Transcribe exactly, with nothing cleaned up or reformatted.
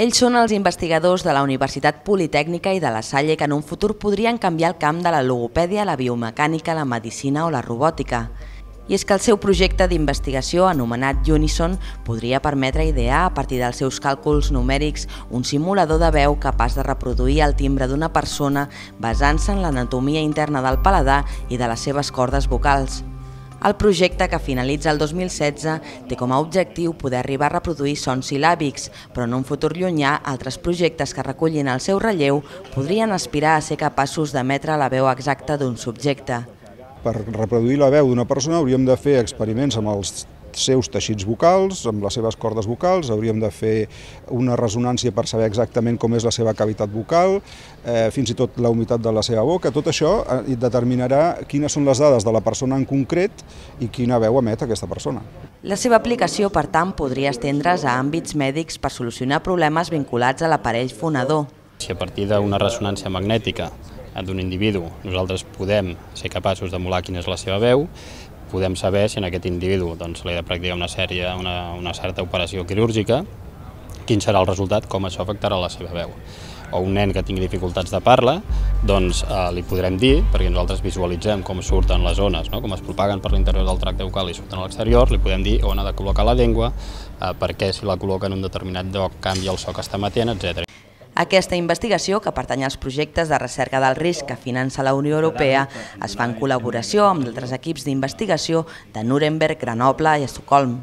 Ells són els investigadors de la Universitat Politècnica i de la Salle que en un futur podrien canviar el camp de la logopèdia, la biomecànica, la medicina o la robòtica. I és que el seu projecte d'investigació, anomenat Unison, podria permetre idear, a partir dels seus càlculs numèrics, un simulador de veu capaç de reproduir el timbre d'una persona basant-se en l'anatomia interna del paladar i de les seves cordes vocals. El projecte, que finalitza el dos mil setze, té com a objectiu poder arribar a reproduir sons sil·làbics, però en un futur llunyà, altres projectes que recullin el seu relleu podrien aspirar a ser capaços d'emetre la veu exacta d'un subjecte. Per reproduir la veu d'una persona hauríem de fer experiments amb els seus teixits vocals, amb les seves cordes vocals, hauríem de fer una ressonància per saber exactament com és la seva cavitat vocal, eh, fins i tot la humitat de la seva boca. Tot això determinarà quines són les dades de la persona en concret i quina veu emet aquesta persona. La seva aplicació, per tant, podria estendre's a àmbits mèdics per solucionar problemes vinculats a l'aparell fonador. Si a partir d'una ressonància magnètica d'un individu nosaltres podem ser capaços d'emular quina és la seva veu, podem saber si en aquest individu doncs, li ha de practicar una, sèrie, una, una certa operació quirúrgica, quin serà el resultat, com això afectarà la seva veu. O un nen que tingui dificultats de parla, doncs eh, li podrem dir, perquè nosaltres visualitzem com surten les ones, no? Com es propaguen per l'interior del tracte vocal i surten a l'exterior, li podem dir on ha de col·locar la llengua, eh, perquè si la col·loca en un determinat lloc canvia el so que està emetent, etcètera. Aquesta investigació, que pertany als projectes de recerca del risc que finança la Unió Europea, es fa en col·laboració amb altres equips d'investigació de Nuremberg, Grenoble i Estocolm.